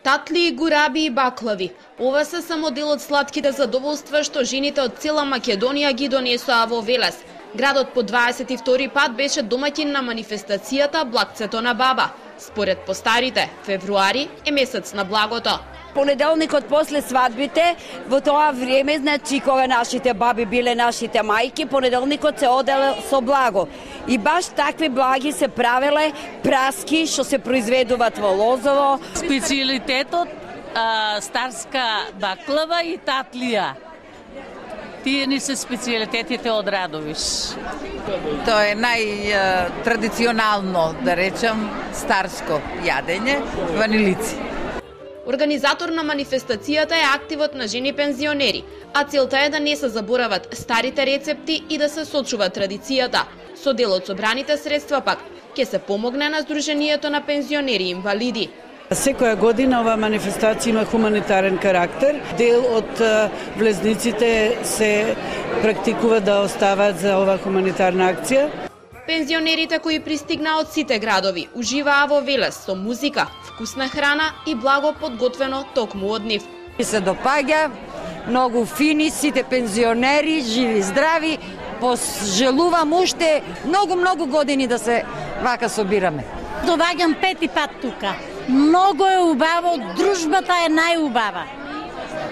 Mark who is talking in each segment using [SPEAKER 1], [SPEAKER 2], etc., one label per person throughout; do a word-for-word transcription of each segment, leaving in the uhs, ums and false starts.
[SPEAKER 1] Татли, гураби и баклави. Ова се само дел од сладките задоволства што жените од цела Македонија ги донесоа во Велес. Градот по дваесет и втори пат беше домаќин на манифестацијата Благцето на баба. Според постарите, февруари е месец на благото.
[SPEAKER 2] Понеделникот после свадбите, во тоа време, значи кога нашите баби биле нашите мајки, понеделникот се оделе со благо. И баш такви благи се правеле праски што се произведуваат во Лозово.
[SPEAKER 3] Специјалитетот а, старска баклава и татлија. Тие ни се специјалитетите од Радовиш.
[SPEAKER 4] Тоа е најтрадиционално, да речем, старско јадење, ванилици.
[SPEAKER 1] Организатор на манифестацијата е активот на жени пензионери, а целта е да не се заборават старите рецепти и да се сочува традицијата. Со дел од собраните средства пак ќе се помогне на Сдруженијето на пензионери и инвалиди.
[SPEAKER 5] Секоја година ова манифестација има хуманитарен карактер. Дел од влезниците се практикува да остават за ова хуманитарна акција.
[SPEAKER 1] Пензионерите кои пристигнаа од сите градови уживаа во Велес со музика, вкусна храна и благо подготвено токму од нив.
[SPEAKER 2] Ми се допаѓа, многу фини, сите пензионери, живи, здрави, пожелувам уште многу-многу години да се вака собираме.
[SPEAKER 6] Доаѓам пети пат тука. Многу е убаво, дружбата е најубава.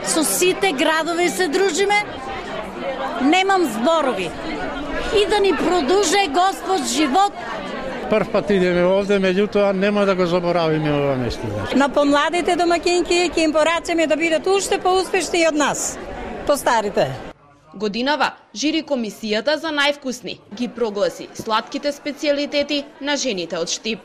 [SPEAKER 6] Со сите градови се дружиме, немам зборови. И да ни продуже Господ живот.
[SPEAKER 7] Прв пат идеме овде, меѓутоа нема да го заборавиме ова место.
[SPEAKER 8] На помладите домакинки ќе им порачаме да бидат уште поуспешни од нас, по старите.
[SPEAKER 1] Годинава, жири комисијата за највкусни ги прогласи сладките специјалитети на жените од Штип.